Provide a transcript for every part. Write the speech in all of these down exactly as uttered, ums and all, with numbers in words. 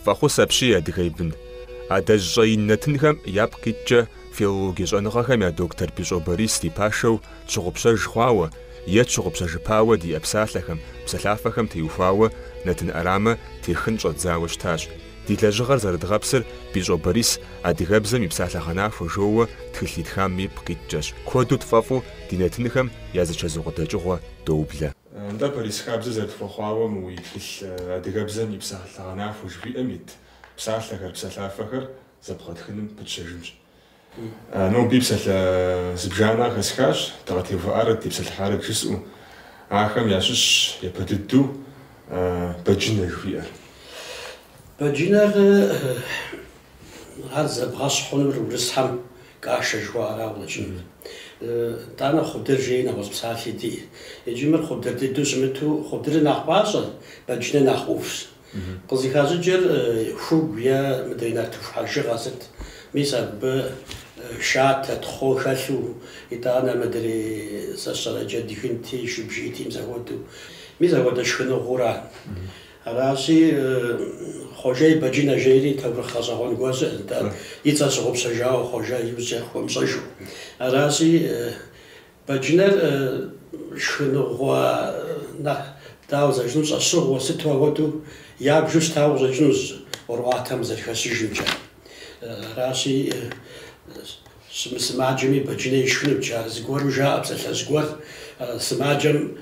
Фӏэхъус апщий, адыгэ и бын. Адэжь щӏэин нэтынхэм япкъ иткӏэ филологие щӏэныгъэхэм я доктор Бищӏо Борис ди пашэу тщыгъупщэж хъуауэ е тщыгъупщэжыпауэ диӏэ псалъэхэм, псалъафэхэм теухуауэ нэтын ӏэрамэ техын щӏэдзауэ щытащ. Ди лэжьыгъэр зэрыдгъэпсыр Бищӏо Борис адыгэбзэм и псалъэгъэнахуэ жоуэ тхылъ итхам ипкъ иткӏэщ. Куэду тфӏэфӏу ди нэтынхэм я зы чэзу къыдэкӏыгъуэ доублэ. Нтӏэ, Борис, хабзэ зэрытхуэхъуауэ мы уи тхылъ адыгэбзэм и псалъэгъэнахуэ жыхуиӏэм ит псалъэхэр, псалъафэхэр зэпкърытхыным пытщэжынщ. Ноби псалъэ зыбжанэ хэсхащ, дыкъытеувыӏарэт, депсэлъыхьарэт жысӏэу. Ахэм ящыщщ япэ дыдэу бэджынэ жыхуиӏэр. Бэджынэр ар зэбгъэщхь хъунур урысхэм кашэ жыхуаӏэрауэ къыщӏэкӏынут. Итӏанэ хъудыр жери нэгъуэщӏ псалъи диӏэ. Иджы мыр хъудыр дыдэу щымыту, хъудырыр нэхъ пӏащӏэ, бэджынэ нэхъ ӏувщ. Къызыхащӏыкӏыр хугу е мыдрей нартыху хьэжыгъэ сыт. Мис абы шатэ, тхъу хэлъу, итӏанэ мыдрей сэ сщӏэрэ джэдгынти, шыбжийти мис апхуэдэу. Мис апхуэдэ шхыныгъуэра. Аращи, Хъуэжэ и бэджынэ жери таурыхъ гъэщӏэгъуэн гуэр щыӏэт, и цӏэр щыгъупщэжауэ Хъуэжэ иужькӏэ хуэмыщӏэжу. Аращи, бэджынэр шхыныгъуэ нэхъ дауэ зэрыжыпӏэну щӏэщыгъуэ сыту апхуэдэу ябжу щытауэ къыщӏэкӏынущ ӏуэрыӏуатэм зэрыхэщыжымкӏэ. Аращи, щымысымаджэми бэджынэ ишхынут, ар зыгуэру жаӏэ псалъэжь гуэр сымаджэм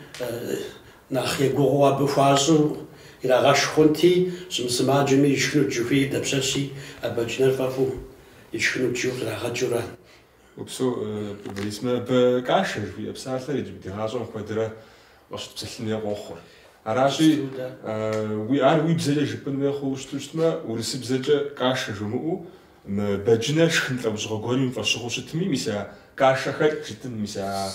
нэхъ егугъуу абы хуащӏу ирагъэшх хъунти, щымысымаджэми ишхынут жыхуиӏэр дапщэщи а бэджынэр фӏэфӏу ишхынут жыу кърагъэкӏыурэ. Упсэу, Борис, мыбы кашэ жыхуиӏэ псалъэр иджы ди гъащӏэм куэдрэ къыщытпсэлъын хуей къохъур. Аращи, уи ар уи бзэкӏэ жыпӏэн хуей хъууэ щыту щытмэ, урысыбзэкӏэ кашэ жумыӏэу, мы бэджынэр шхын лӏэужьыгъуэ гуэрым и фӏэщыгъэу щытми, мис а кашэ хэкӏ жытӏын, мис а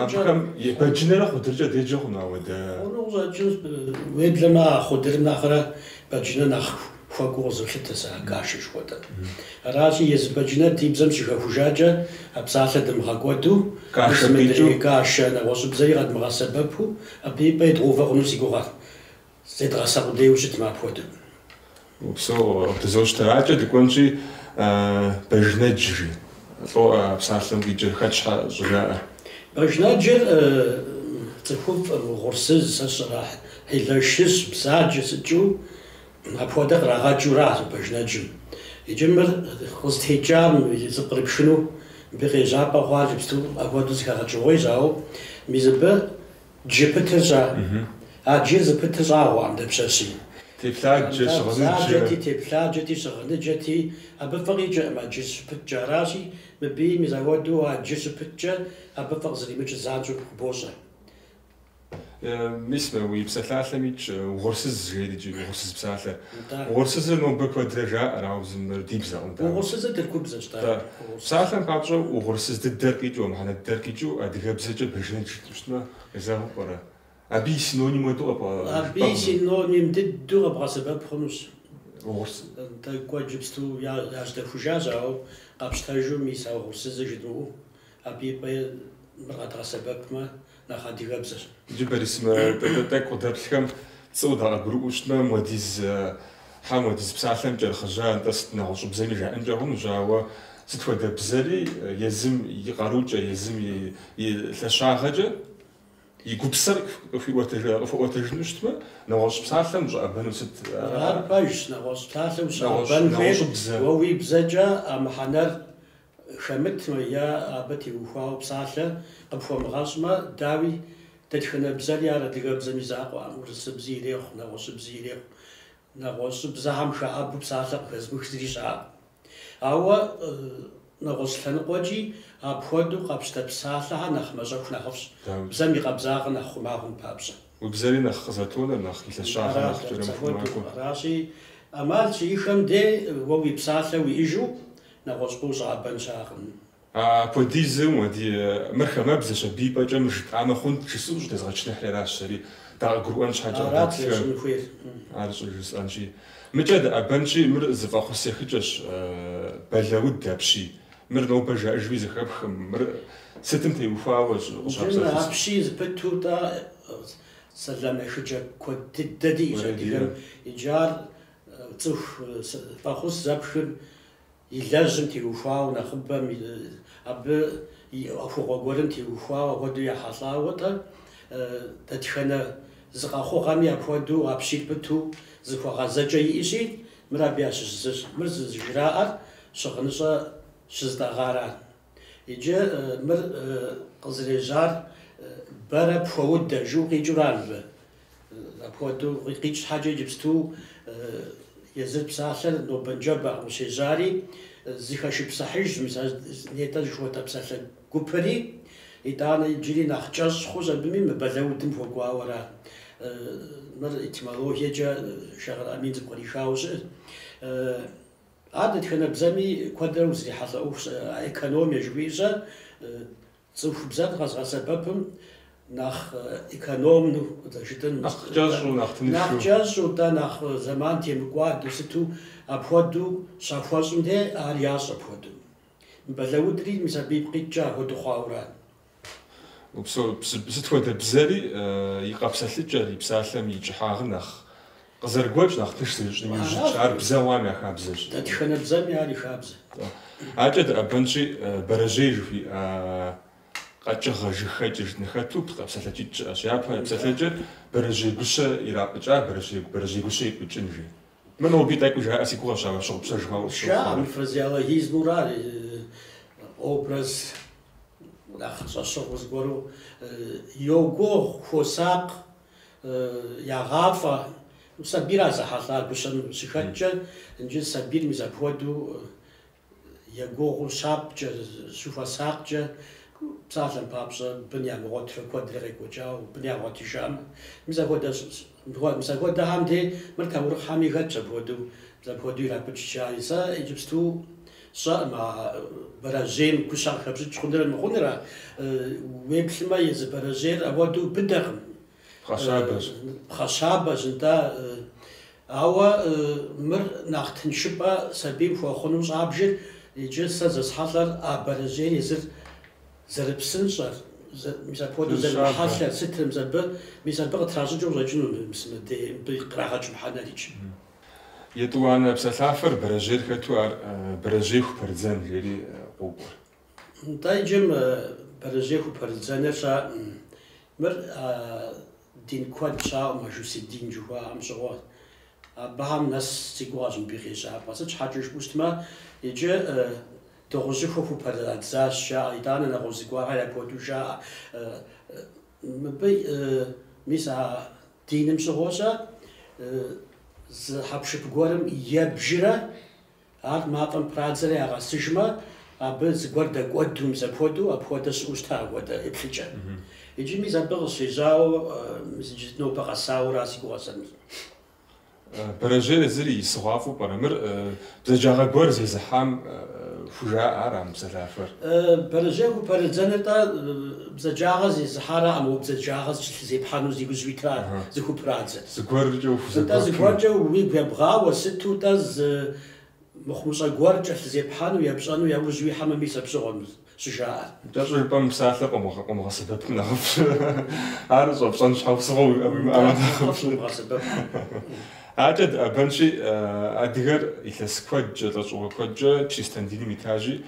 абыхэм бэджынэрэ хъудыркӏэ деджэ хъуну ауэдэ? Хъуну къыщӏэкӏынщ, уеблэмэ а хъудырым нэхърэ бэджынэ нэхъ хуэкӏуэу къызолъытэ сэ а кашэ жыхуэтӏэр. Аращи, езы бэджынэр ди бзэм щыхэхужакӏэ а псалъэр дымыгъэкӏуэду, Кашэ къикӏыу? Кашэ нэгъуэщӏыбзэри къэдмыгъэсэбэпу, абы и пӏэ идгъэувэ хъуну си гугъэр. Зедгъэсэ къудейуэ щытмэ апхуэдэу. Упсэу, къыдызощтэ. Адэкӏэ дыкӏуэнщи, бэжнэдж жи. Лӏо а псалъэм къикӏыр хэт щхьэ щӏыжаӏэр? Бэжнэджыр цӏыхуфӏ, угъурсыз, сэ сщӏэрэ хьилэшыщ, бзаджэ сытжу апхуэдэ кърагъэкӏыуращ бэжнэджым. Иджы мыр къызытекӏам зыпкърыпхыну мыбы къежьапӏэ хъуар иджыпсту апхуэдэу зэхэгъэкӏыгъуейщ, ауэ мис абы джы пытыр щӏэ. А джыр зыпытыр щӏагъуэкъым дапщэщи. Теплъаджэ, щыгъыныджэ. Бзаджэти, теплъаджэти, щыгъыныджэти, абы фӏы къикӏыркъым а джыр щыпыткӏэ. Аращи, мыбыи мис апхуэдэу а джыр щыпыткӏэ абы фӏы къызэримыкӏыр занщӏэу къыбощӏэ. Мис мы уи псалъалъэм итщ угъурсыз жери икӏи угъурсыз псалъэр. Угъурсызыр нобэ куэдрэ жаӏэр, ауэ мыр ди бзэкъым. Угъурсызыр тыркубзэщ, да. Псалъэм папщӏэ угъурсыз дыдэр къикӏыу, мыхьэнэ дыдэр къикӏыу адыгэбзэкӏэ бэжынэдж жытӏэу щытмэ, къезэгъыу пӏэрэ? Абы и синоним хуэдэу къэбгъэ- Абы и синоним дыдэу къэбгъэсэбэп хъунущ. Угъурс. Тӏэкӏу иджыпсту яжьдэхужащ, ауэ къэпщтэжу мис а угъурсызыр жыдмыӏэу, абы и пӏэ мыр къэдгъэсэбэпмэ нэхъ адыгэбзэщ. Иджы, Борис, мы тӏэкӏу къыдэплъхэм пцӏыуэ дакъыгурыӏуэу щытмэ, муэдиз хьэ муэдиз псалъэм кӏэрыхъыжьа, нтӏэ сыт нэгъуэщӏыбзэми жаӏэнкӏэ хъунущ, ауэ сыт хуэдэ бзэри езым и къарукӏэ, езым и лъэщагъэкӏэ и гупсэр къыхуиӏуэтэжыну щытмэ, нэгъуэщӏ псалъэм ущӏэӏэбэну сыт? Ар пэжщ, нэгъуэщӏ псалъэм ущӏэӏэбэн хуейр уэ уи бзэкӏэ а мыхьэнэр хэмытмэ е абы теухуауэ псалъэ къыпхуэмыгъэщӏмэ, дауи, дэтхэнэ бзэри ар адыгэбзэм и закъуэкъым, урысыбзи ирехъу, нэгъуэщӏыбзи ирехъу. Нэгъуэщӏыбзэхэм хэӏэбу псалъэ къыхэзмых зыри щыӏэкъым. Ауэ нэгъуэщӏ лъэныкъуэкӏи апхуэдэу къэпщтэ псалъэхэр нэхъ мащӏэху нэхъыфӏщ. Бзэм и къабзагъэр нэхъ хъума хъун папщӏэ. Уи бзэри нэхъ къызэтонэр, нэхъ и лъэщагъэр нэхъ кӏэрымыху макӏуэ. Аращи, ӏэмал щиӏэхэм де уэ уи псалъэ уиӏэжу нэгъуэщӏ ущӏэӏэбэн щыӏэкъым. Апхуэдизу мыр хамэбзэщ, абы и пӏэкӏэ мыр жытӏамэ хъунт жысӏэу щӏытезгъэчыныхьри аращ сэри. Дакъыгурыӏуэн щхьэкӏэ къыдэплъхэм хуейр. Ар щӏыжысӏэнщи. Мыкӏэ дыӏэбэнщи, мыр зы фӏэхъус ехыкӏэщ, бэлауд апщий. Мыр нобэ жаӏэжуи зэхэпхым, мыр сытым теухуауэ къыщапсэлъыс? Апщий зыпыту-тӏэ сэлам ехыкӏэ куэд дыдэ диӏэщ адыгэм. Иджы ар Цӏыху фӏэхъус зэпхыр и лэжьым теухуауэ нэхъыбэм, абы и ӏуэхугъуэ гуэрым теухуауэ апхуэдэу ехьэлӏауэ-тӏэ, дэтхэнэ зы къэхъугъэми апхуэдэу апщий пыту зыхуэгъэзэкӏэ иӏэщи, мыр абы ящыщ зыщ. Мыр зыжраӏэр щыгъыныщӏэ щызытӏэгъара. Иджы мыр къызэрежьар бэрэ пхуэудэ жу къикӏыура мыбы. Апхуэдэу къикӏ щхьэкӏэ иджыпсту езыр псалъэр нобэнджэбэкъым къыщежьари, зыхэшыпсыхьыжщ, мис нетӏэ жыхуэтӏэ псалъэ гупри, итӏанэ иджыри нэхъ кӏэщӏ хъущ абыми мы бэлэудым хуэкӏуауэра. Мыр этимологиекӏэ Шагъыр Амин зыпкърихауэ щыӏэщ. Ар дэтхэнэ бзэми куэдрэ узрихьэлӏэ ӏуэхущ, экономие жыхуиӏэщ, цӏыху бзэр къэзгъэсэбэпым нэхъ экономну жытӏэн, нэхъ кӏэщӏу, нэхъ тыншу. Нэхъ кӏэщӏу, тӏэ нэхъ зэман темыкӏуадэу сыту апхуэдэу щахуэщӏым де ар ящӏ апхуэдэу. Бэлэудри мис абы ипкъ иткӏэ апхуэдэу хъуауэра. Упсэу, сыт хуэдэ бзэри и къэпсэлъыкӏэр, и псалъэм и кӏыхьагъыр нэхъ къызэрыгуэкӏ, нэхъ тынш зэрищӏыным иужь, ар бзэ уам я хабзэщ. Дэтхэнэ бзэми ар и хабзэ. Акӏэ дыӏэбэнщи, бэрэжьей жыхуиӏэ къэкӏыгъэ жыгхэкӏыр жытӏэну къэпсэлъэкӏитӏ щыӏэщ. Япэ псэлъэкӏэр бэрэжьей гущэ ирапӏыкӏа, бэрэжьей бэрэжьей гущэ ипӏыкӏын жи. Мыр ноби тӏэкӏу жаӏэ си гугъэщ, ауэ щыгъупщэж хъуауэ къысщохъу. Жаӏэ, мыр фразеологизмура, образ нэхъ щӏэщыгъуэ зыгуэру йогугъу, хуосакъ, ягъафӏэ. Сабийра зэхьэлӏар гущэм щыхэткӏэ, иджы сабийр мис апхуэдэу егугъуу щапӏкӏэ, щыхуэсакъкӏэ, псалъэм папщӏэ бын ямыгъуэтрэ куэдрэ къекӏуэкӏауэ, бын ягъуэтыжам. Мис апхуэдэ мис апхуэдэхэм де мыр таурыхъхэми хэтщ апхуэдэу, мис апхуэдэу ирапӏыкӏ жари. Сэ иджыпсту сщӏэкъым а бэрэжьейм гущэ къыхэпщӏыкӏ хъунрэ мыхъунрэ, уеплъмэ езы бэрэжьейр апхуэдэу быдэкъым. Пхъэщабэщ. Пхъэщабэщ, нтӏэ. Ауэ мыр нэхъ тыншыпӏэ сабийм хуэхъуну щӏабжыр, иджы сэ зэсхьэлӏэр а бэрэжьейр езыр зэрыпсынщӏэр, мис апхуэдэу зэрымыхьэлъэр, сытыр, мис абы, мис абы къытращӏыкӏыу къыщӏэкӏыну мис мыбы кърагъэкӏ мыхьэнэрикӏ. Етӏуанэ псалъафэр бэрэжьейр хэту ар бэрэжьей хупэрыдзэн жери къокӏуэр. Нтӏэ иджы бэрэжьей хупэрыдзэныр ща мыр дин куэд щаӏэу мажусий дин жыхуаӏэм щыгъуэ абыхэм нэс си гугъэщ мыбы и къежьапӏэ. Сыт щхьэкӏэ жыпӏэу щытмэ, иджы дыгъужьыхуэ хупэрыдзащ жаӏэ, итӏанэ нэгъуэщӏ зыгуэрхэр апхуэдэу жаӏэ. Мыбы мис а диным щыгъуэщэ зы хьэпшып гуэрым ебжрэ ар мафӏэм прадзэрэ ягъэсыжмэ, абы зыгуэр дэкӏуэду мис апхуэдэу, апхуэдэ щыӏэу щыта апхуэдэ еплъыкӏэ. Иджы мис абы къыщежьауэ мис иджы нобэ къэсауэра си гугъэ сэ. Бэрэжьейр езыр и сыгъуафӏэу пӏэрэ? Мыр бзаджагъэ гуэр зезыхьам хужаӏэ ара мы псалъафэр? Бэрэжьей хупэрыдзэныр-тӏэ бзаджагъэ зезыхьараӏым, уэ бзаджагъэ зыпхьэну зи гужь уитрар зыхупрадзэр. Зыгуэркӏэ ухузэгуэпыну. Зыгуэркӏэ уигу ебгъауэ, сыту-тӏэ зы мыхъумыщӏэ гуэр кӏэлъызепхьэну, епщӏэну яужь уихьэмэ, мис апщыгъуэм щыжаӏэр. Кӏэщӏу жыпӏэм псалъэр къомыгъэсэбэпым нэхъыфӏщ. Ар щӏэпщӏэн щхьэусыгъуэ уимыӏэмэ нэхъыфӏщ. Акӏэ дыӏэбэнщи, адыгэр илъэс куэдкӏэ, лӏэщӏыгъуэ куэдкӏэ чристэн диным итащи,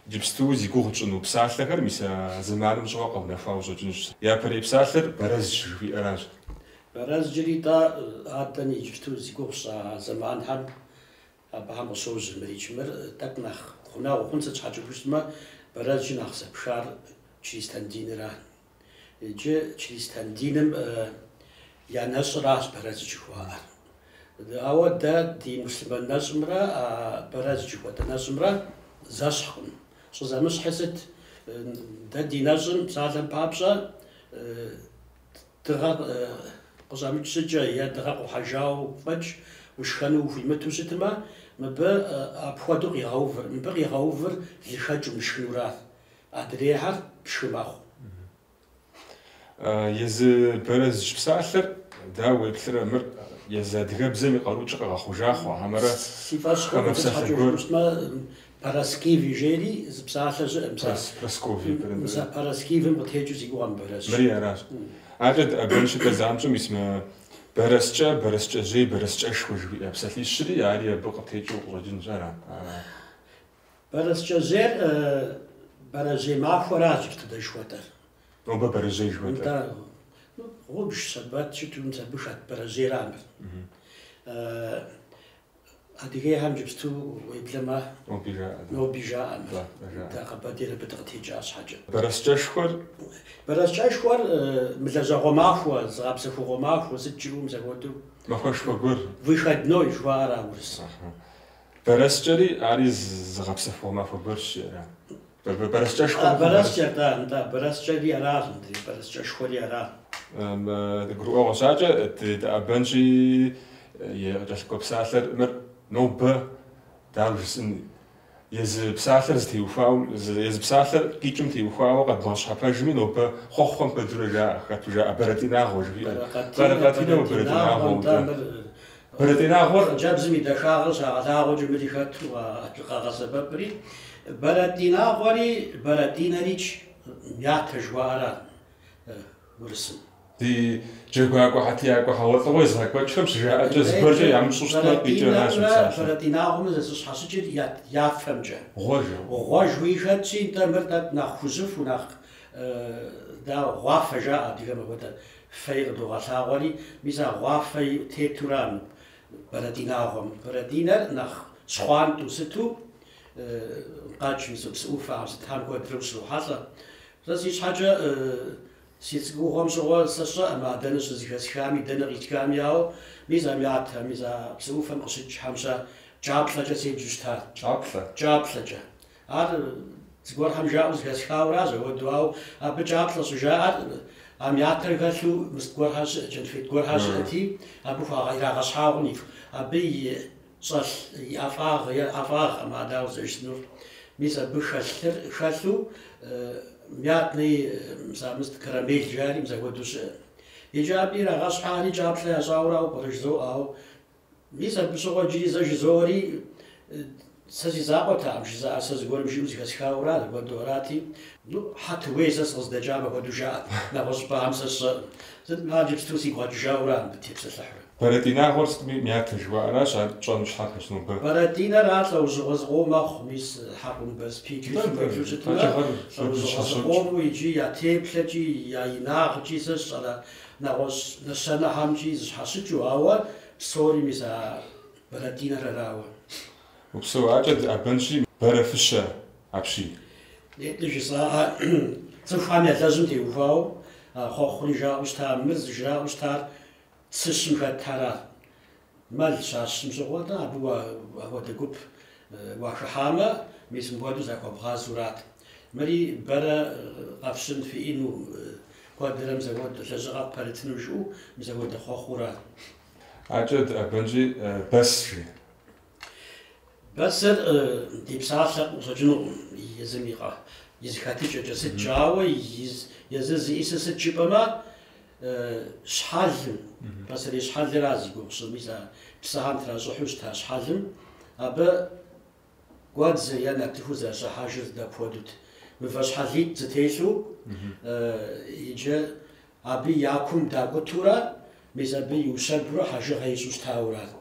иджыпсту зи гугъу тщӏыну псалъэхэр мис а зэманым щыгъуэ къэунэхуауэ къыщӏэкӏынущ. Япэрей псалъэр бэрэздж жыхуиӏэращ. Бэрэзджри-тӏэ адэм иджыпсту зи гугъу сщӏа зэманхэм абыхэм къыщожьэ мырикӏ. Мыр тӏэкӏу нэхъ гъунэгъу хъун сыт щхьэкӏэ жыпӏэмэ, бэрэзджыр нэхъ зэпхар чристэн диныра. Иджы чристэн диным я нэщӏыращ бэрэздж жыхуаӏэр. Ауэ дэ ди муслъымэн нэщӏымрэ а бэрэздж жыхуэтӏэ нэщӏымрэ зэщхькъым. Щӏызэмыщхьыр сыт? Дэ ди нэщӏым псалъэм папщӏэ дыгъэ къыщӏэмыкӏ щӏыкӏэ е дыгъэ къухьэжауэ фӏэкӏ ушхэну ухуимыту щытмэ, мыбы апхуэдэу къигъэувыр. Мыбы къигъэувыр лыхэкӏ умышхынура. Адрейхэр пшхы мэхъу. Езы бэрэздж псалъэр дауэ уеплърэ, мыр езы адыгэбзэм и къарукӏэ къэгъэхъужа хъуа, хьэмэрэ Си фӏэщ хъуркъым, сыт щхьэкӏэ жыпӏэу щытмэ, Параскиви жери зы псалъэ щыӏэм. Прасковье. Мис а Параскивым къытекӏыу си гугъэм бэрэздж. Мыри аращ. Акӏэ дыӏэбэнщи, дэ занщӏэу мис мы Бэрэскӏэ, бэрэскӏэжьей, бэрэскӏэшхуэ жыхуиӏэ псалъищри, ари абы къытекӏыу къыщӏэкӏынщ, ара? Бэрэскӏэжьейр бэрэжьей махуэращ иджыпсту жыхуэтӏэр. Нобэ бэрэжьей жыхуэтӏэр. Гъубж, щэбэт щыту мис абы хэт бэрэжьейра мыр. Адыгейхэм иджыпсту уеблэмэ ноби жаӏэ. Ноби жаӏэ мыр. Дэ Къэбэрдейр абы дыкъытекӏа щхьэкӏэ. Бэрэскӏэшхуэр? Бэрэскӏэшхуэр мылэжьэгъуэ махуэ, зыгъэпсэхугъуэ махуэ, сыт жыӏэу мис апхуэдэу. Махуэшхуэ гуэр. Выходной жыхуаӏэра урыс. Бэрэскӏэри ари зыгъэпсэхугъуэ махуэ гуэрщ, ара? Бэрэскӏэшхуэ. Бэрэскӏэр, да, да, бэрэскӏэри аращ, бэрэскӏэшхуэри ара. Гурыӏуэгъуэщ акӏэ, дыӏэбэнщи къыкӏэлъыкӏуэ псалъэр мыр нобэ дауэ жысӏэн, езы псалъэр зытеухуауэ, езы псалъэр къикӏым теухуауэ къэдбгъэщхьэпэжми нобэ хъуэхъухэм куэдурэ жаӏэ, хэту жаӏэ бэрэтӏинагъуэ жыхуиӏэр. Бэрэкъэтинэ бэрэтӏинагъуэ. Бэрэтӏинагъуэр хъыджэбзым и дахагъэр щагъэлъагъуэкӏэ мыри хэту къагъэсэбэпри. Бэрэтӏинагъуэри бэрэтӏинэрикӏ мятэ жыхуаӏэра урысым. Ди джэгуакӏуэ хьэтиякӏуэ хьэгъуэлӏыгъуэ езыгъэкӏуэкӏхэм щыжаӏэкӏэ зыгуэркӏэ ямыщӏу щытмэ къикӏыращ псалъэр. Бэрэтӏинагъуэмэ зэщхьэщыкӏыр я фэмкӏэ. Гъуэжу. Гъуэжуи хэтщи, нтӏэ мыр тӏэкӏу нэхъ хужьыфу, нэхъ дауэ гъуафэ жаӏэ адыгэм апхуэдэ фэи къыдогъэлъагъуэри, мис а гъуафэ тетура бэрэтӏинагъуэм. Бэрэтӏинэр нэхъ щхъуантӏэу сыту къэкӏ, мис псы ӏуфэхэм сытхэм куэдрэ ущрохьэлӏэ. Сэ си щхьэкӏэ си цӏыкӏугъуэм щыгъуэ сэ сщӏэӏым а дэнэ щызэхэсхами, дэнэ къитхами, ауэ мис а мятэ, мис а псы ӏуфэм къыщыкӏхэм щэ кӏаплӏэкӏэ седжу щытар. Кӏаплӏэ? Кӏаплӏэкӏэ. Ар зыгуэрхэм жаӏэу зэхэсхауэращ апхуэдэу, ауэ абы кӏаплӏэ щӏыжаӏэр а мятэр хэлъу мыст гуэрхэр щыӏэ, кӏэнфет гуэрхэр щыӏэти, абы ирагъэщхьагъун, абы и щӏэлъ и ӏэфӏагъ е ӏэфӏагъкъым, а дауэ зэрыжысӏэнур. Мис абы хэлъыр хэлъу мятный мис карамель жари мис апхуэдэу щыӏэ. Иджы абы ирагъэщхьари кӏаплӏэ ящӏауэрауэ пӏэрэ жызоӏэ, ауэ мис абы щыгъуэ иджыри зэ жызоӏэри сэ си закъуэтэкъым жызыӏэр, сэ зыгуэрым жиӏэу зэхэсхауэра апхуэдэу арати. Ну, Хьэтуей сэ сыкъыздэкӏам апхуэдэу жаӏэт, нэгъуэщӏ щӏыпӏэхэм сэ сщӏэӏым. Сыт ар иджыпсту сигу къэкӏыжауэра мыбы тепсэлъыхьурэ. Бэрэтӏинагъуэр сытми мятэ жыхуаӏэращ, ар тщӏэну щхьэпэщ нобэ. Бэрэтӏинэр ар лӏэужьыгъуэ зыкъом мэхъу, мис хьэкъунбэзпий тхылъым щытмэ, лӏэужьыгъуэ зыкъому иджы я теплъэкӏи, я инагъкӏи сэ сщӏэрэ нэгъуэщӏ нэщэнэхэмкӏи зыщхьэщыкӏыу, ауэ псори мис а бэрэтӏинэр арауэ. Упсэу акӏэ дыӏэбэнщи бэрэфыщэ апщий. Нетӏэ жысӏа цӏыхухэм я лэжьым теухуауэ хъуэхъури жаӏэу щыта, мыр зыжраӏэу щытар цыщым хэтхэрат. Мэл щащым щыгъуэ, абы апхуэдэ гуп уахыхьамэ, мис мыпхуэдэу захуэбгъазурат. Мыри бэрэ къэфщын фиӏэну, куэдрэ мис апхуэдэ лэжьыгъэ пэрытыну жыӏэу, мис апхуэдэ хъуэхъурат. Акӏэ дыӏэбэнщи бэс жи. Бэсыр ди псалъэ къыщӏэкӏынукъым езым и зэхэтыкӏэкӏэ сыткӏэ, ауэ езыр зиӏисыр сыт жыпӏэмэ, щхьэлым, пасэрей щхьэлыра зи гугъу сщӏыр, мис а псыхэм тращӏыхьу щыта щхьэлым, абы гуэдзыр е нартыхур зэрыщӏыхьэжыр дапхуэдэут. Мывэ щхьэлитӏ зэтелъу, иджы абы я кум дакӏутурэ, мис абы иущэбурэ хьэжыгъэ ищӏу щытаурат.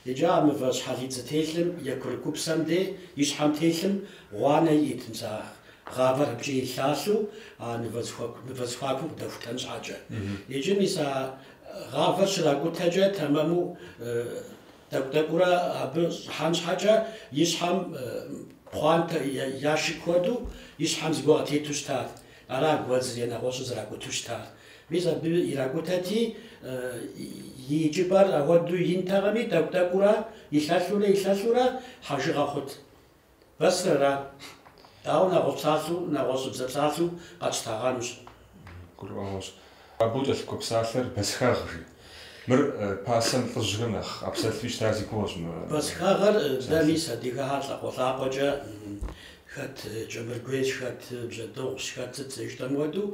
Иджы а мывэ щхьэлитӏ зэтелъым е курыкупсэм де и щхьэм телъым гъуанэ иӏэт, мис а гъавэр абыкӏэ илъалъу а мывэ зэхуакум къыдэхутэн щхьэкӏэ. Иджы мис а гъавэр щракӏутэкӏэ тэмэму тӏэкӏу-тӏэкӏуурэ абы щӏыхьэн щхьэкӏэ и щхьэм пхъуантэ яшык хуэдэу и щхьэм зыгуэр къытету щытат. Ара гуэдзыр е нэгъуэщӏыр зэракӏуту щытар. Мис абы иракӏутэти и икӏыпӏэр апхуэдэу интэкъыми, тӏэкӏу-тӏэкӏуурэ илъэлъурэ илъэлъурэ хьэжыгъэ хъут. Бэсыр ара. Ауэ нэгъуэщӏ псалъэу, нэгъуэщӏыбзэ псалъэу къэтщтагъэнущ. Гурыӏуэгъуэщ. Абы укӏэлъыкӏуэ псалъэр бэсхэгъ жи. Мыр пасэм лӏыжьхэм нэхъ къапсэлъу щыта зи гугъэщ мы. Бэсхэгъыр дэ мис адыгэхэр лӏакъуэ-лӏакъуэкӏэ хэт кӏэмыргуейщ, хэт бжьэдыгъущ, хэт сыт зэрыжытӏэм хуэдэу,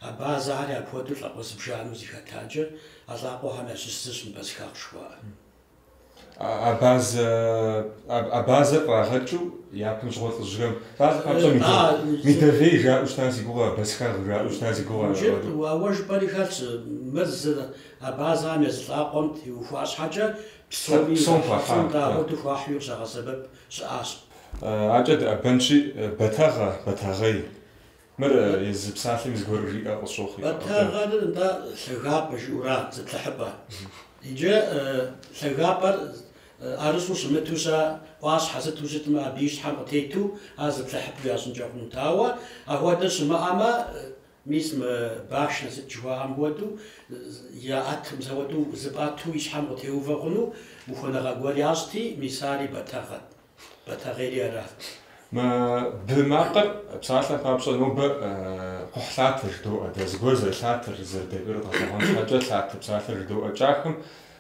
абазэхэри апхуэдэу лӏакъуэ зыбжанэу зэхэтакӏэ, а лӏакъуэхэм ящыщ зыщ мы бэсхэгъ жыхуаӏэр. Абазэ абазэр кърагъэкӏыу япэм щыгъуэ лӏыжьхэм псалъэ папщӏэ медовей жаӏэу щыта си гугъэ, басхагъ жаӏэу щыта си гугъэ. Ауэ жыпӏэри хэлъщ, мыр зы абазэхэм езы лӏакъуэм теухуа щхьэкӏэ псоми Псом хуахьа. Апхуэдэу хуахьуи къыщагъэсэбэп щыӏащ. Акӏэ дыӏэбэнщи, бэтэгъэ, бэтэгъей. Мыр езы псалъэм зыгуэр жиӏэ къысщохъу. Бэтэгъэр нтӏэ лъагапӏэ жиӏэура, зыплъыхьыпӏэ. Иджы лъагапӏэр ӏэрыщӏу щымыту щэ ӏуащхьэ сыту щытмэ, абы и щхьэм къытету ар зыплъыхьыпӏэу ящӏынкӏэ хъунут. Ауэ апхуэдэ щымыӏэмэ, мис мы башнэ сыт жыхуаӏэм хуэдэу, яӏэтым зэуэдэу зыпӏэту и щхьэм къытеувэ хъуну ухуэныгъэ гуэр ящӏти, мис ари бэтэгъэт. Бэтэгъейри арат. Мы бы макъыр псалъэм папщӏэ нобэ кхъухьлъатэ жыдоӏэ. Дэ зыгуэр зэрылъатэр, зэрыдэкӏуэр къэгъэлъэгъуэн щхьэкӏэ лъатэ псалъэр жыдоӏэ. Кӏахэм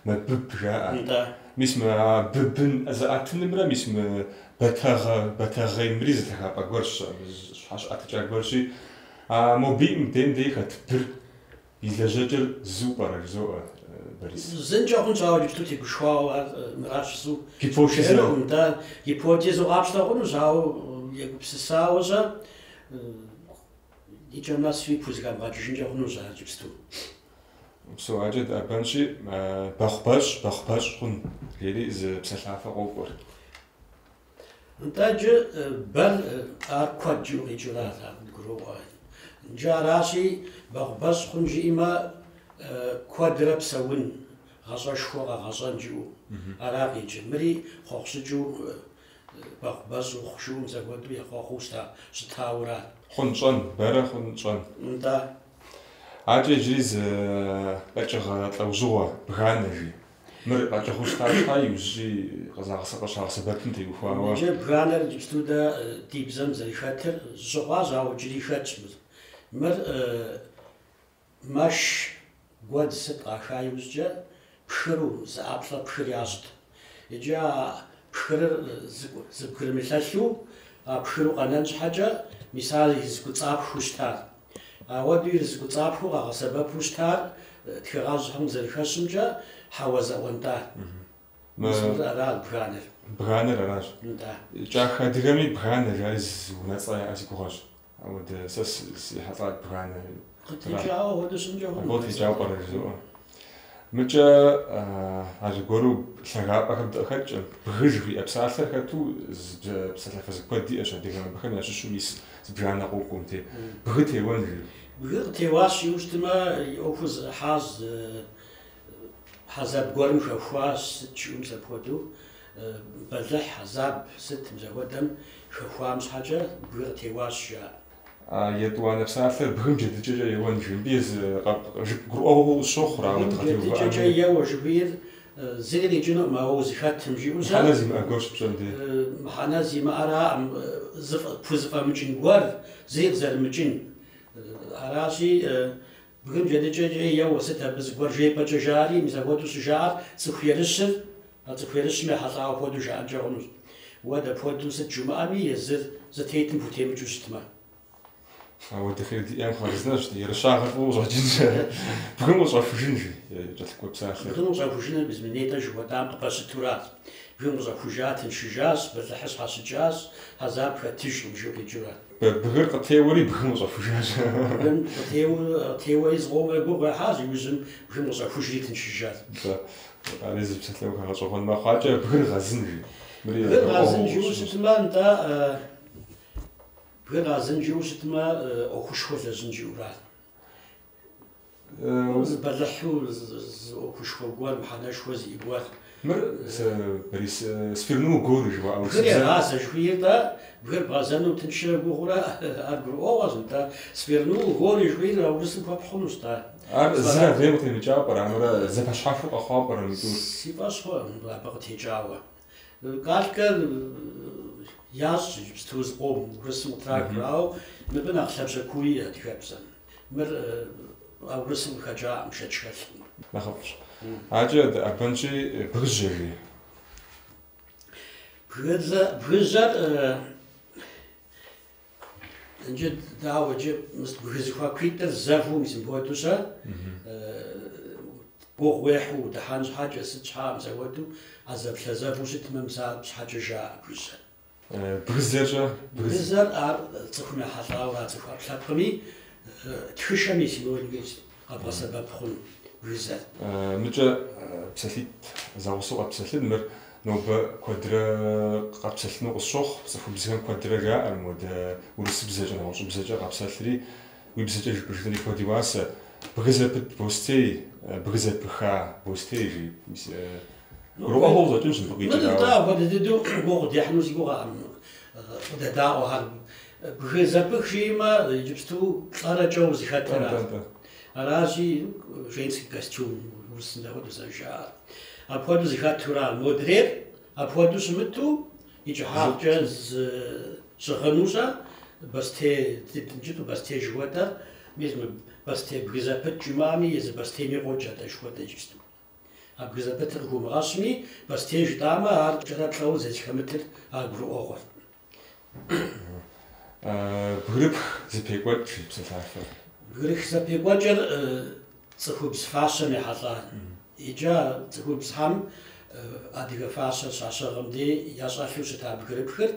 мэбыб жаӏэ. Мис мы быбын зыӏэтынымрэ мис мы бэтэгъэ, бэтэгъей мыри зы лъагапӏэ гуэрщ, щхьэщыӏэтыкӏа гуэрщи. А мобиӏым дейм дей хэт быр и лэжьэкӏэр зыу пӏэрэ жызоӏэ, Борис. Зынкӏэ хъунщ, ауэ иджыпсту тегушхуауэ ар мыращ жысӏэу. Гипотезэ. Нтӏэ, гипотезэу къапщтэ хъунущ, ауэ егупсысауэ щэ и кӏэм нэсуи пхузэхэмыгъэкӏыжынкӏэ хъунущ ар иджыпсту. Псо акӏэ дыӏэбэнщи, бэхъубэщӏ, бэхъубэщӏ хъун, жери зы псалъафэ къокӏуэр. Нтӏэ иджы бэр ар куэд жиӏэу къикӏыурат, ар къыдгуроӏуэ. Иджы аращи, бэхъубэщӏ хъун жиӏэмэ, куэдрэ псэун, гъащӏэшхуэ къэгъэщӏэн жиӏэу ара къикӏыр. Мыри хъуэхъу щӏыкӏэу бэхъубэщӏ ухъу жиӏэу зэхуэдэу ехъуэхъуу щытауэрат. Хъун щӏэн, бэрэ хъун щӏэн. Нтӏэ. Акӏэ иджыри зы къэкӏыгъэ лӏэужьыгъуэ, бганэ жи. Мыр къэкӏыгъэу щыта щхьа иужькӏи къыщагъэсэбэпым теухуауэ. Иджы бганэр иджыпсту дэ ди бзэм зэрыхэтыр щыхъуащ, ауэ иджыри хэтщ мыр. Мыр мэш гуэдз сыт къаха иужькӏэ пхыру, зы ӏэплӏэ пхыр ящӏт. Иджы а пхырыр зыбгрымылъэлъу, а пхыру къэнэн щхьэкӏэ, мис ар ирызыкӏуцӏапхыу щытар. Ауэдэу ирызыкӏуцӏапхыу къагъэсэбэпу щытар тхыгъэжьхэм зэрыхэщымкӏэ хьэуазэ ӏуэнтӏар. Мис мыр арат бганэр. Бганэр аращ. Нтӏэ. Кӏахэ адыгэми бганэ жари зы унэцӏэ яӏэ си гугъэщ. Ауэдэ сэ сихьэлӏат бганэ. Къытекӏауэ хуэдэу щынкӏэ хъуну. Къытекӏауэ пӏэрэ жызоӏэ. Мыкӏэ аргуэру лъагапӏэхэм дыхэткӏэ, бгы жыхуиӏэ псалъэр хэту псалъафэ куэд иӏэщ адыгэм, абыхэм ящыщу мис зыбжанэ къокӏуэм те. Бгы теуэн жи. Бгы къытеуащ иужьтымэ, и ӏуэхур зэӏыхьащ, хьэзаб гуэрым хэхуащ, сыт жиӏэу мис апхуэдэу. Бэлыхь, хьэзаб, сыт мис апхуэдэм хэхуам щхьэкӏэ бгы къытеуащ жаӏэ. Етӏуанэ псалъэр бгым джэдыкӏэкӏэ еуэн жи. Мыбы езы гурыӏуэгъуэу къысщохъур, ауэ Бгым джэдыкӏэкӏэ еуэ жыхуиӏэр зыри къикӏынукъым, ауэ узыхэтым жиӏэу щэ. Мыхьэнэ зимыӏэ гуэр щыпщӏэн дей. Мыхьэнэ зимыӏэраӏым, пхузэфӏэмыкӏын гуэр, зыри къызэрымыкӏын. Аращи, бгым джэдыкӏэкӏэ еуэ сыт абы зыгуэр жепӏэкӏэ жари, мис апхуэдэу щыжаӏэр цӏыху ерыщыр, а цӏыху ерыщым ехьэлӏауэ хуэдэу жаӏэнкӏэ хъунущ. Уэ дапхуэдэу сыт жумыӏэми, езыр зытетым хутемыкӏыу щытмэ. Ауэдэхэр диӏэм хъарзынэщ, ерыщагъэр фӏыуэ къыщӏэкӏынщ. Бгым къыщӏэхужын жи, кӏэлъыкӏуэ псалъэр. Бгым къыщӏэхужыныр мис мы нетӏэ жыхуэтӏам къыпэщытурат. Бгым къыщӏэхужа тыншыжащ, бэлыхьыр щхьэщыкӏащ, хьэзаб хэтыжкъым жиӏэу къикӏыурат. Бгыр къытеуэри бгым къыщӏэхужащ. Бгым къытеуэри зыкъомрэ гугъу ехьащ, иужьым бгым къыщӏэхужри тыншыжащ. Ари зы псалъэуха гъэщӏэгъуэн мэхъу. Акӏэ бгыр гъэзын жи. Бгыр гъэзын жиӏэу щытмэ, нтӏэ, бгыр гъэзын жиӏэу щытмэ, ӏуэхушхуэ лэжьын жиӏэурат. Зы бэлыхьу, зы ӏуэхушхуэ гуэр, мыхьэнэшхуэ зиӏэ гуэр. Мыр, Борис, свернул горы жыхуаӏэу. Бгыр егъазэ жыхуиӏэр-тӏэ, бгыр бгъэзэну тыншрэ гугъурэ ар гурыӏуэгъуэщ, нтӏэ. Свернул горы жыхуиӏэр а урысым хуэпхь хъунущ-тӏэ. Ар зыр адрейм къытемыкӏауэ пӏэрэ, амырэ зэпэщхьэхуэу къэхъуауэ пӏэрэ мы тӏур? Си фӏэщ хъуӏым абы къытекӏауэ. Калькэ ящӏ иджыпсту зыкъом урысым къытрахыр, ауэ мыбы нэхъ лъабжьэ куу иӏэ адыгэбзэм. Мыр а урысым къыхэкӏаӏым, шэч хэлъкъым. Нэхъыфӏщ. Акӏэ дыӏэбэнщи, бгыжьэ жи. Бгыжьэр иджы дауэ иджы бгы зэхуакуитӏыр зэву мис мыпхуэдэу щэ Гугъу уехьу удыхьэн щхьэкӏэ, сыт щхьэ мызэуэду, а зэплъэзэву щытмэ, мис ар щхьэкӏэ жаӏэ бгыжьэр. Бгызэрщэ? Бгызэр ар цӏыхум ехьэлӏауэ, а цӏыху ӏэпкълъэпкъми тхышэм и синониму къэбгъэсэбэп хъуну бгызэр. Мыкӏэ псалъитӏ зэгъусэу къэпсэлъын, мыр нобэ куэдрэ къэпсэлъыну къысщохъу, цӏыхубзхэм куэдрэ жаӏэр, модэ урысыбзэкӏэ, нэгъуэщӏыбзэкӏэ къэпсэлъри, уи бзэкӏэ жыпӏэжынри куэд и уасэ. Бгы зэпыт бостей, бгы зэпыха бостей жи. Гурыӏуэгъуэу къыщӏэкӏынщ мыбы къикӏыр. Нтӏэ, апхуэдэ дыдэу гугъу дехьыну си гугъэкъым къыдэдаӏуэхэр. Бгы зэпых жиӏэмэ, иджыпсту плӏэрэ кӏэу зыхэтыр. Аращи, женский костюм урысым апхуэдэу зэрыжаӏэр. Апхуэдэу зыхэтура. Модрейр апхуэдэу щымыту, и кӏыхьагъкӏэ щыгъынущэ, бостей, иджыту бостей жыхуэтӏэр, мис мы бостей бгы зэпыт жумыӏэми, езы бостейми къокӏ атӏэ жыхуэтӏэ иджыпсту. А бгы зэпытыр къыхыумыгъэщми, бостей жытӏамэ, ар кӏэрэ плӏэуэ зэрызэхэмытыр ар гурыӏуэгъуэр. Бгырыпх зэпекӏуэкӏ жи псалъафэр. Бгырыпх зэпекӏуэкӏыр цӏыхубз фащэм ехьэлӏа. Иджы цӏыхубзхэм адыгэ фащэр щащыгъым дей ящӏэлъу щыта бгырыпхыр,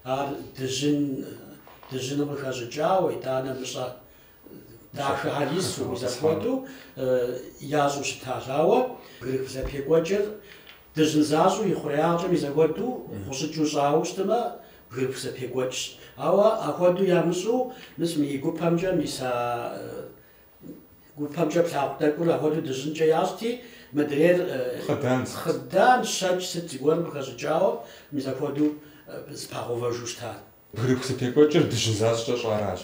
ар дыжьын, дыжьыным къыхэщӏыкӏауэ, итӏанэ мыщӏэ дахэхэр ису, мис апхуэдэу ящӏу щытащ. Ауэ бгырыпх зэпекӏуэкӏыр дыжьын защӏэу и хъуреягъкӏэ мис апхуэдэу гъущӏыкӏыу щӏауэ щытмэ, бгырыпх зэпекӏуэкӏщ. Ауэ апхуэдэу ямыщӏу, мис мы и гупэмкӏэ, мис а гупэмкӏэ плъагъу тӏэкӏур апхуэдэу дыжьынкӏэ ящӏти, мыдрейр хъыдан, щэкӏ сыт зыгуэрым къыхэщӏыкӏауэ, мис апхуэдэу зэпагъэувэжу щытар. Бгырыпх зэпекӏуэкӏыр дыжьын защӏэкӏэ щӏаращ.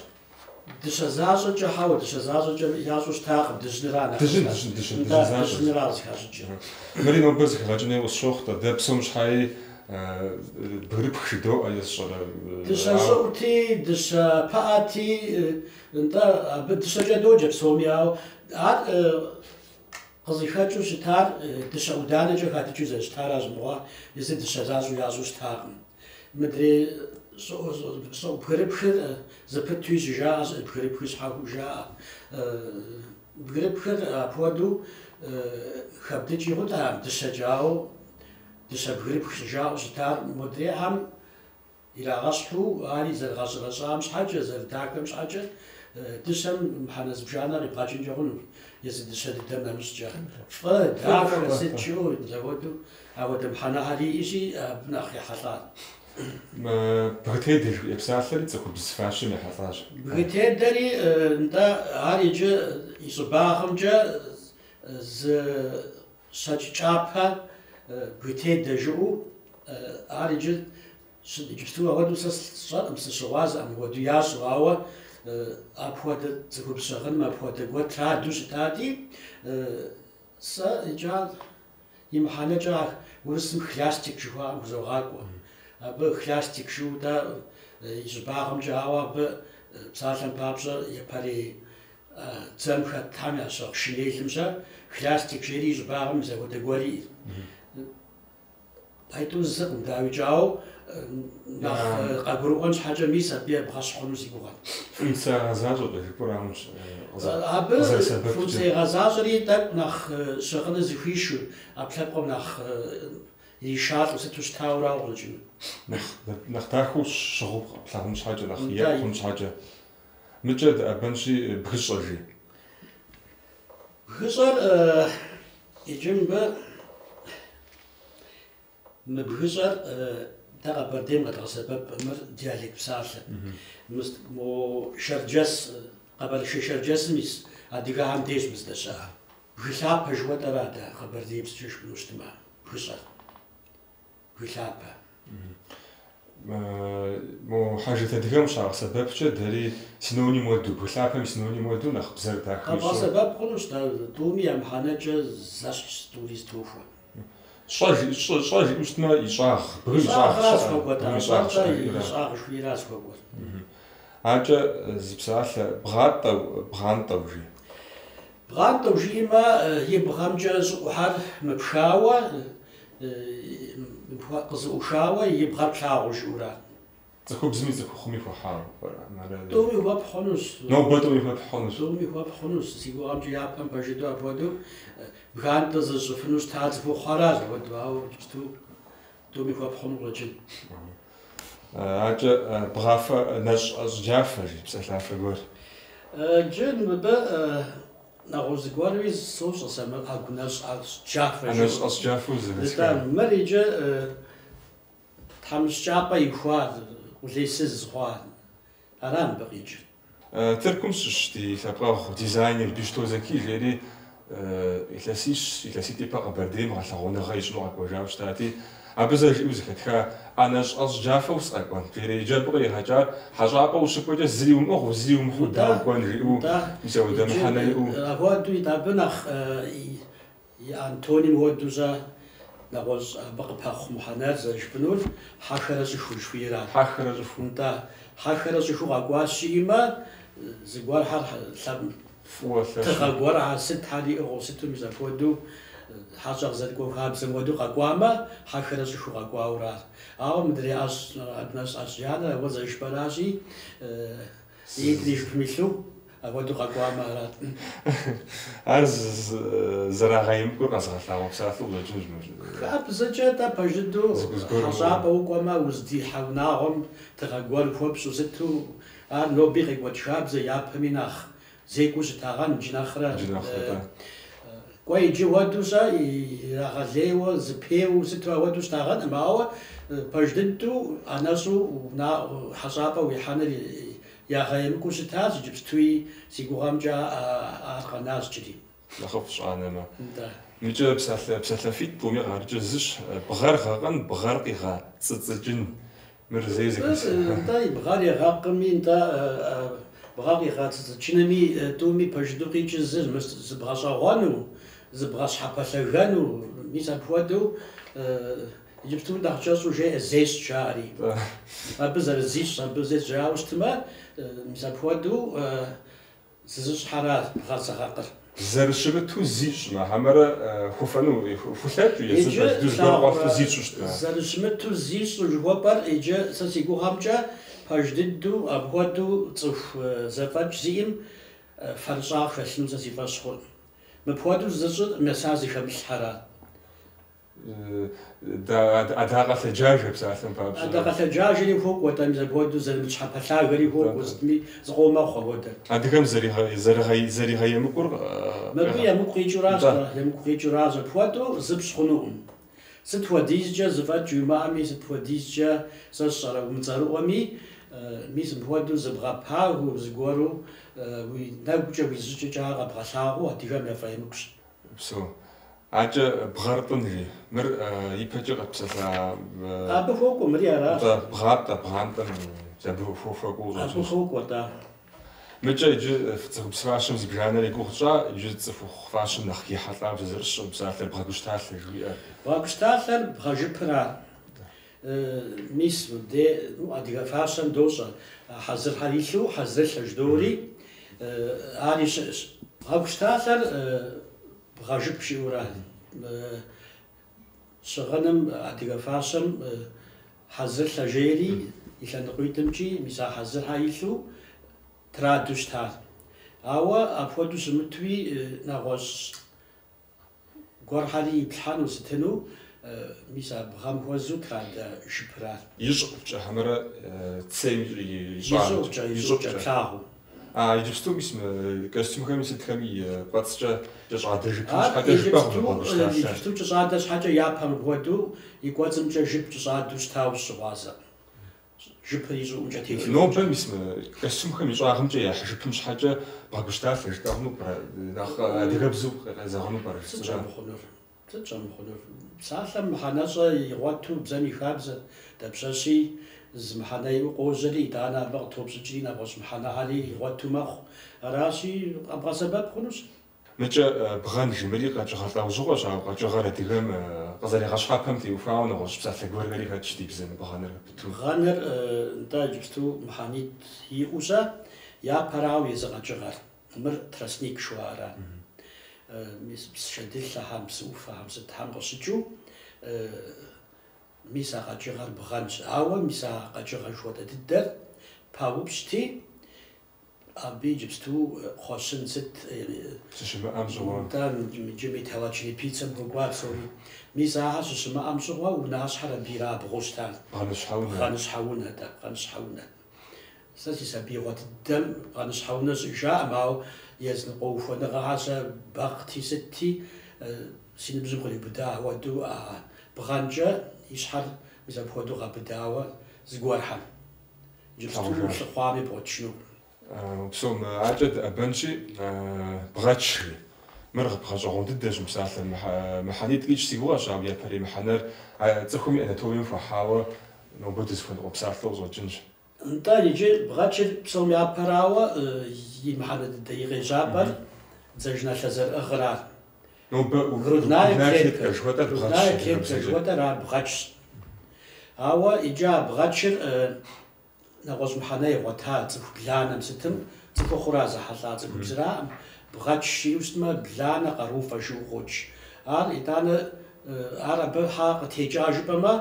Дыщэ защӏэкӏэ хьэуэ, дыщэ защӏэкӏэ ящӏу щытакъым, дыжьыныра нэхъ. Дыжьын, дыжьын, дыжьын, дыжьын защӏэ. Дыжьыныра зыхащӏыкӏыр. Мыри нобэ зэхэгъэкӏын хуейуэ къысщохъу, дэ псом щхьэи бгырыпх жыдоӏэ есщӏэрэ. Дыщэ щӏыӏути, дыщэ пыӏэти, нтӏэ, абы дыщэкӏэ доджэ псоми, ауэ ар къызыхэкӏыу щытар дыщэ ӏуданэкӏэ хадыкӏыу зэрыщытаращ мыгъуэ, езы дыщэ защӏэу ящӏу щытакъым. Мыдрей щӏыӏу бгырыпхыр зэпытуи щыжаӏэ, бгырыпхыр щхьэхуэу жаӏэ. Бгырыпхыр апхуэдэу хэбдыкӏи хъутэкъым дыщэкӏэ, ауэ дыщэ бгырыпх щыжаӏэу щытар модрейхэм ирагъэщхьу, ари зэрыгъэщӏэрэщӏам щхьэкӏэ, зэрыдахэм щхьэкӏэ, дыщэм мыхьэнэ зыбжанэ къибгъэкӏынкӏэ хъуну, езы дыщэ дыдэм нэмыщӏкӏэ. Фӏы, дахэ, сыт жыӏэу, зэхуэдэу апхуэдэ мыхьэнэхэр иӏэщи, абы нэхъ ехьэлӏат. Бгытедэ жыхуиӏэ псалъэри цӏыхубз фащэм ехьэлӏащ. Бгытедэри, нтӏэ, ар иджы и щӏыбагъымкӏэ зы щэкӏ кӏапэ бгытедэ жыӏэу, ар иджы иджыпсту апхуэдэу сэ сщӏэркъым, сыщыгъуазэкъым апхуэдэу ящӏу, ауэ апхуэдэ цӏыхубз щыгъыным апхуэдэ гуэр траду щытати, сэ иджы ар и мыхьэнэкӏэ урысым хлястик жыхуаӏэм хузогъакӏуэ. Абы хлястик жыӏэу дэ и щӏыбагъымкӏэ, ауэ абы псалъэм папщӏэ япэрей дзэм хэтхэм ящыгъ шинелым-щэ хлястик жери и щӏыбагъым зэхуэдэ гуэр иӏэт. Айтӏу зыкъым, дауикӏ, ауэ нэхъ къагурыӏуэн щхьэкӏэ мис абы ебгъэщхь хъуну си гугъэт. Функцэ ягъэзащӏэкӏэ жыпӏэр ауэ Абы функцэ игъэзащӏэри тӏэкӏу нэхъ щыгъыныр зыхуишу, ӏэпкълъэпкъым нэхъ иришалӏэу сыту щытауэ къыщӏэкӏыну. Нэхъ нэхъ дахэу щыгъыу плъагъун щхьэкӏэ, нэхъ екӏу хъун щхьэкӏэ. Мыкӏэ дыӏэбэнщи бгыщӏэ жи. Бгыщӏэр иджы мыбы мы бгыщӏэр дэ Къэбэрдейм къэдгъэсэбэп мыр диалект псалъэ. Мо Шэрджэс, Къэбэрдей-Шэрджэсым ис адыгэхэм деж мыздэщыӏэр. Бгы лъапэ жыхуэтӏэра дэ къэбэрдеибзэкӏэ жыпӏэну щытмэ, бгыщӏэр. Бгы лъапэ. Мо хьэжрэт адыгэм щагъэсэбэпкӏэ дэри синоним уэду, бгы лъапэм и синоним уэду нэхъ бзэр дахэ ищӏу. Къэбгъэсэбэп хъунущ, тӏуми я мыхьэнэкӏэ зэщхьщ, тӏури зэтохуэ. Щӏэ щӏэ жиӏэу щытмэ, и щӏагъ, бгым и щӏагъ щыӏэ, и щӏагъ жыхуиӏэращ зыхуэкӏуэр. Акӏэ зы псалъэ бгъатӏэу, бгъантӏэу жи. Бгъантӏэу жиӏэмэ, и бгъэмкӏэ щӏыӏухьэр мыпхауэ, къызэӏухауэ и бгъэр плъагъуу жыӏэура. Цӏыхубзми цӏыхухъуми хуэхьауэ пӏэрэ? Тӏуми хуэпхь хъунущ. Нобэ тӏуми хуэпхь хъунущ. Тӏуми хуэпхь хъунущ. Си гугъэмкӏэ япэм пэж дыдэу апхуэдэу бгантӏэ зыщӏыфыну щыта цӏыхухъухэращ апхуэдэу, ауэ иджыпсту тӏуми хуэпхь хъуну къыщӏэкӏын. Акӏэ бгъафэ нэщӏ ӏэщӏ джафэ, жи псалъафэ гуэр. Иджы мыбы нэгъуэщӏ зыгуэрми сощӏэ сэ мыр ӏэгу нэщӏ ӏэщӏ джафэ. Нэщӏ ӏэщӏ джафэу зэхэсха. Мыр иджы тхьэмыщкӏапӏэ ихуа, къулейсыз хъуа. Ара мыбы къикӏыр. Тыркум щыщ ди лъэпкъэгъу дизайнер Бищто Зэки жери илъэсищ, илъэситӏ ипэ Къэбэрдейм гъэлъэгъуэныгъэ ищӏыну къэкӏуэжауэ щытати, абы зэ жиӏэу зэхэтха ӏэнэщӏ ӏэщӏ джафэу сыкъэкӏуэн. Жери иджы абы къригъэкӏар хьэщӏапӏэ ущыкӏуэкӏэ зыри умыӏыгъыу, зыри умыхьу дауэ укӏуэн жиӏэу, мис апхуэдэ мыхьэнэ иӏэу. Апхуэдэу абы нэхъ и антоним хуэдэу щэ нэгъуэщӏ абы къыпэхъу мыхьэнэр зэрыжыпӏынур хьэхэрэ щӏыху жыхуиӏэрат. Хьэхэрэ щӏыху. Нтӏэ, хьэхэрэ щӏыху къэкӏуащ жиӏэмэ, зыгуэрхэр лъэпкъ тыгъэ гуэрхэр сытхэр иӏыгъыу сыту мис апхуэдэу хьэщӏэ къызэрыкӏуэ хабзэм хуэдэу къэкӏуамэ, хьэхэрэ щӏыху къэкӏуауэрат. Ауэ мыдрей ӏэщӏ нэщӏ ӏэщӏ джанэр ауэ зэрыжыпӏэращи, итӏри жыпым илъу апхуэдэу къэкӏуамэ арат. Ар зэрагъэемыкӏур къэзыгъэлъагъуэ псалъэу къыщӏэкӏынущ мыр. Хабзэкӏэ-тӏэ пэж дыдэу хьэщӏапӏэ укӏуэмэ, уздихьэ унагъуэм тыгъэ гуэр хуэпщӏу сыту, ар ноби къекӏуэкӏ хабзэ япэми нэхъ зекӏуэу щытагъэн иджы нэхърэ. Кӏуэ иджы хуэдэу щэ ирагъэлейуэ, зэпеуэу сыту апхуэдэу щытагъэнкъым, ауэ пэж дыдэу ӏэнэщӏу хьэщӏапӏэ уихьэныр ягъэемыкӏуэу щытащ, иджыпстуи си гугъэмкӏэ ар къэнащ иджыри. Нэхъыфӏщ анэмэ. Мыкӏэ псалъэ псалъэфитӏ тӏуми къарыкӏыр зыщ. Бгъэр гъэкъын, бгъэр къигъэцӏыцӏыкӏын. Мыр зэи зэхэсха. Нтӏэ, бгъэр егъэкъыми, нтӏэ, бгъэр къигъэцӏыцӏыкӏынми тӏуми пэж дыдэу къикӏыр зыр, зыбгъэщӏэгъуэну, зыбгъэщхьэпэлъэгэну, мис апхуэдэу иджыпсту нэхъ кӏэщӏу жеӏэ зещӏ жаӏэри. Абы зэрызищӏ, абы зещӏ жаӏэу щытмэ, мис апхуэдэу зызыщӏхьэращ бгъэр зыгъэкъыр. Зэрыщымыту зищӏмэ, хьэмэрэ хуфэну, хулъэкӏыу езыр пэж дыдэу зыгуэр къуэлъу зищӏу щытмэ. Зэрыщымыту зищӏу жыхуэпӏэр иджы сэ си гугъэмкӏэ пэж дыдэу апхуэдэу цӏыху зэфӏэкӏ зиӏэм фэрыщӏагъ хэлъыну сэ си фӏэщ хъуркъым. Мыпхуэдэу зыщӏыр меса зыхэмылъхьэрат. Адакъэ лъэджажэ псалъэм папщӏэ. Адакъэ лъэджажэри хуокӏуэ, тӏэ, мис апхуэдэу зэрымыт щхьэпэлъагэри хуокӏуэ, сытми зыкъомэхъу апхуэдэр. Адыгэм зэригъэемыкӏур мыбы емыкӏу къикӏыуращ, емыкӏу къикӏыуращ, апхуэдэу зыпщӏ хъунукъым. Сыт хуэдизкӏэ зэфӏэкӏ уимыӏэми, сыт хуэдизкӏэ сэ сщӏэрэ умыцӏэрыӏуэми, мис мыпхуэдэу зыбгъэпагэу, зыгуэру уи нэгукӏэ, уи зыщӏыкӏэкӏэ ар къэбгъэлъагъуэу адыгэм яфӏэемыкӏущ. Псэу. Акӏэ бгъэр тӏын жи. Мыр ипэкӏэ къэтпсэлъа Абы хуокӏуэ, мыри аращ. Бгъатӏэ, бгъантӏэм абы хуэкӏуэу Абы хуокӏуэ, тӏэ. Мыкӏэ иджы цӏыхубз фащэм зыбжанэр и гугъу тщӏа, иджы цӏыхухъу фащэм нэхъ ехьэлӏауэ зызэрыщӏым псалъэр бгъэгущталъэ жиӏэр. Бгъэгущталъэр бгъэжыпыра. Мис мыбде, ну, адыгэ фащэм дощӏэ хьэзырхэр илъу, хьэзырылъэ жыдори, ари щыӏэщ. Бгъэгущталъэр бгъэжып жиӏэура. Щыгъыным адыгэ фащэм хьэзырылъэ жери и лъэныкъуитӏымкӏи мис а хьэзырхэр илъу траду щытар. Ауэ апхуэдэу щымытуи нэгъуэщӏ гуэрхэри иплъхьэну сытыну, мис а бгъэм хуэзэу традэ жыпырат. И щӏыӏукӏэ хьэмэрэ цейм и щӏыӏукӏэ, и щӏыӏукӏэ плъагъуу. А иджыпсту мис мы костюмхэми сытхэми и кӏуэцӏкӏэ кӏэщӏадэ жыпым щхьэкӏэ жыпӏэ хъуну бгъэгущталъэр. Иджыпсту кӏэщӏадэ щхьэкӏэ япэм хуэдэу и кӏуэцӏымкӏэ жып кӏэщӏадэу щытауэ сыщыгъуазэкъым. Жыпыр и щӏыӏумкӏэ телъу. Нобэ мис мы костюмхэм и щӏагъымкӏэ яхь жыпым щхьэкӏэ бгъэгущталъэ жытӏэ хъуну пӏэрэ? Нэхъ адыгэбзэу къезэгъыну пӏэрэ? Сыт щӏэмыхъунур? Сыт щӏэмыхъунур? Псалъэм мыхьэнэщӏэ игъуэту бзэм и хабзэ дапщэщи зы мыхьэнэ иӏэу къожьэри, итӏанэ абы къытопщӏыкӏри нэгъуэщӏ мыхьэнэхэри игъуэту мэхъу. Аращи, къэбгъэсэбэп хъунущ. Мыкӏэ бгъэн жи, мыри къэкӏыгъэ лӏэужьыгъуэщ, ауэ къэкӏыгъэр адыгэм къызэригъэщхьэпэм теухуауэ нэгъуэщӏ псалъэ гуэрхэри хэтщ ди бзэм бгъэныр пыту. Бгъэныр нтӏэ иджыпсту мыхьэнитӏ иӏэу щэ, япэрауэ езы къэкӏыгъэр. Мыр тростник жыхуаӏэра. Мис псы шэдылъэхэм, псы ӏуфэхэм, сытхэм къыщыкӏыу Мис а къэкӏыгъэр бгъэнщ. Ауэ мис а къэкӏыгъэ жыхуэтӏэ дыдэр паупщӏти, абы иджыпсту кхъуэщын сыт щыщымыӏэм щыгъуэ. Нтӏэ, иджы металлочерепицэм хуэкӏуа псори. Мис ахэр щыщымыӏэм щыгъуэ унащхьэр абы ирабгъуу щытар. Бгъэныщхьэ унэ. Бгъэныщхьэ унэ, тӏэ, бгъэныщхьэ унэ. Сэ си сабиигъуэ дыдэм бгъэныщхьэ унэ щӏыжаӏым, ауэ языныкъуэ ухуэныгъэхэр сэ бэкхъти сытти, си ныбжьым къриубыда апхуэдэу а бгъэнкӏэ и щхьэр мис апхуэдэу гъэбыдауэ зыгуэрхэм. Иджыпсту лъыхъуами бгъуэтыжынукъым. Псом акӏэ дыӏэбэнщи, бгъэч жи. Мыр гъэщӏэгъуэн дыдэщ мы псалъэр. Мыхьэнитӏ къикӏ си гугъэщ, ауэ япэрей мыхьэнэр цӏыхум и анатомием хуэхьауэ нобэ дызыхуэныкъуэ псалъэу къыщӏэкӏынщ. Нтӏэ, иджы бгъэчыр псом япэрауэ и мыхьэнэ дыдэ и къежьапӏэр дзажэналъэ зэрыӏыгъырар. Нобэ Грудная клетка клетка жыхуэтӏэр бгъэчщ Грудная клетка адыгэбзэкӏэ. жыхуэтӏэр ар бгъэчщ. Ауэ иджы а бгъэчыр нэгъуэщӏ мыхьэнэ игъуэта цӏыху бланэм сытым, цӏыхухъура зэхьэлӏа цӏыхубзыраӏым, бгъэч жиӏэу щытмэ, бланэ къарууфӏэ жиӏэу къокӏ. Ар итӏанэ ар абы хьэ къытекӏа жыпӏэмэ,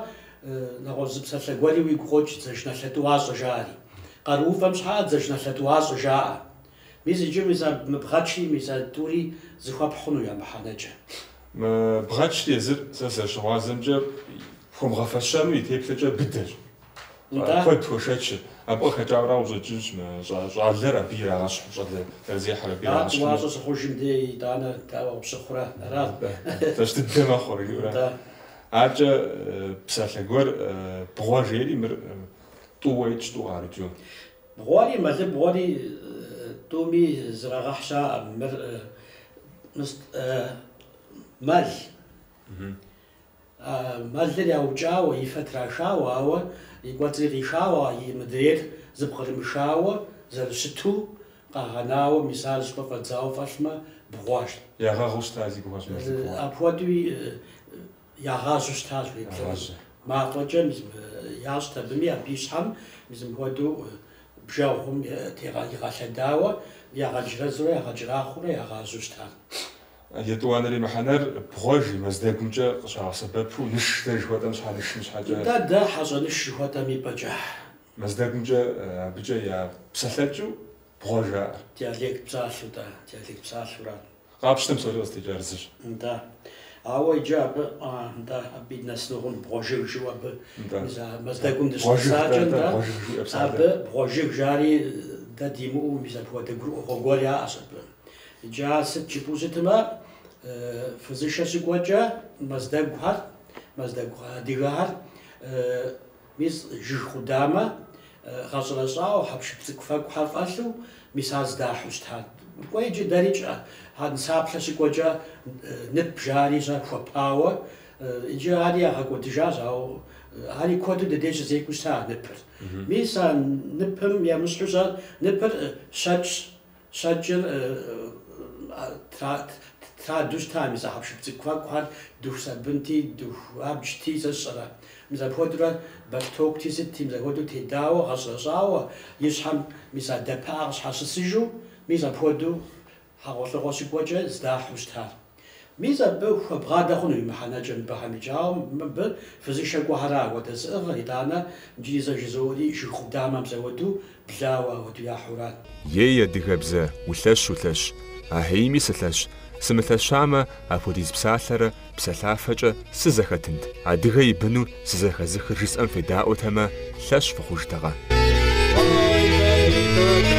нэгъуэщӏ зы псалъэ гуэри уигу къокӏ дзажэналъэ тӏуащӏэ жаӏэри. Къарууфӏэм щхьэӏэ дзажэналъэ тӏуащӏэ жаӏэ. Мис иджы мис а мы бгъэчри мис а тӏури зыхуэпхь хъуну я мыхьэнэкӏэ. Мы бгъэчри езыр сэ зэрыщыгъуазэмкӏэ хуэмыгъэфэщэну и теплъэкӏэ быдэщ. Нтӏэ. Куэд хуэшэчыр. Абы къыхэкӏауэра къыщӏэкӏынщ мы щӏалэр абы ирагъэщхьу, щӏалэ зэрызехьэр абы Ар ирагъэщхьу. тӏуащӏэ щыхъужым дей итӏанэ дауэ къыпщыхъурэ? Ара? Лъэщ дыдэ мэхъур, жиӏэурэ. Нтӏэ. Акӏэ псалъэ гуэр бгъуэ жери мыр тӏууэ итщ, тӏу къарыкӏыу. Бгъуэри мэлыбгъуэри тӏуми зрагъэхь щаӏэ. Мыр мэл. Мэлыр яукӏауэ, и фэ трашауэ, ауэ и кӏуэцӏри къишауэ, и мыдрейр зыпкърымышауэ, зэрыщыту къагъэнауэ, мис ар щӏыпӏэ фӏэдзауэ фӏэлъмэ, бгъуэщ. Ягъэгъуу щыта зи гугъэщ мэлыбгъуэр. Апхуэдэуи ягъажьэу щытащ уеблэмэ. Ягъажьэ. Мафӏэкӏэ мис ящӏт абыми, абы и щхьэм мис мыпхуэдэу бжэгъум игъэлъэдауэ, ягъэджэрэзурэ, ягъэкӏэрахъуэурэ ягъажьэу щытащ. Етӏуанэрей мыхьэнэр бгъуэ жи Мэздэгумкӏэ къыщагъэсэбэпу ныш дэ жыхуэтӏэм щхьэ нышым щхьэкӏэ. Нтӏэ, дэ хьэщӏэныш жыхуэтӏэм и пӏэкӏэ. Мэздэгумкӏэ абыкӏэ я псэлъэкӏыу бгъуэ жаӏэр. Диалект псалъэу, тӏэ, диалект псалъэура. Къапщтэм псори къызытекӏар зыщ. Нтӏэ. Ауэ иджы абы, нтӏэ, абы и нэсынукъым бгъуэжыг жиӏэу абы Нтӏэ. мис а Мэздэгум Бгъуэжыг, дыщыпсакӏэ, тӏэ, тӏэ, нтӏэ, бгъуэжыг жиӏэ псалъэр. абы бгъуэжыг жари дэ димыӏэу мис апхуэдэ гурыӏуэгъуэ гуэр яӏэщ абы. Иджы ар сыт жыпӏэу щытмэ, фызышэ щыкӏуэкӏэ мэздэгухэр, мэздэгу адыгэхэр, мис жыг къудамэ гъэщӏэрэщӏауэ, хьэпшып цӏыкӏу фэкӏухэр фӏэлъу, мис ар здахьу щытар. Кӏуэ иджы дэрикӏ нысаплъэ щыкӏуэкӏэ нып жари щэ хуэпауэ, иджы ари ягъэкӏуэдыжащ, ауэ ари куэду дыдей щызекӏуэу щыта ныпыр. Мис а ныпым емыщхьу щэ, ныпыр щэкӏщ, щэкӏыр траду щыта мис а хьэпшып цӏыкӏу фэкӏухэр, дыху сабынти, дыху абджти, сэ сщӏэрэ. Мис апхуэдэурэ бэлътокути сытти, мис апхуэдэу тедауэ, гъэщӏэрэщӏауэ, и щхьэм мис а дэпыӏэ къыщхьэщысыжу, мис апхуэдэу хьэгъуэлӏыгъуэ щыкӏуэкӏэ здахьу щытар. Мис абы хуэбгъадэ хъуну и мыхьэнэкӏэ мыбыхэм икӏи, ауэ мыбы фызышэ кӏуэхьэра апхуэдэ зыӏыгъыр, итӏанэ иджыри зэ жызоӏэри жыг къудамэм зэуэду блауэ апхуэдэу яхьурат. Ей, адыгэбзэ, улъэщ, улъэщ, ахьейми сылъэщ, сымылъэщамэ, апхуэдиз псалъэрэ псэлъафэкӏэ сызэхэтынт. Адыгэ и быну сызэхэзыхыр жысӏэм федаӏуэтэмэ, лъэщ фыхъужтэкъэ. Ой,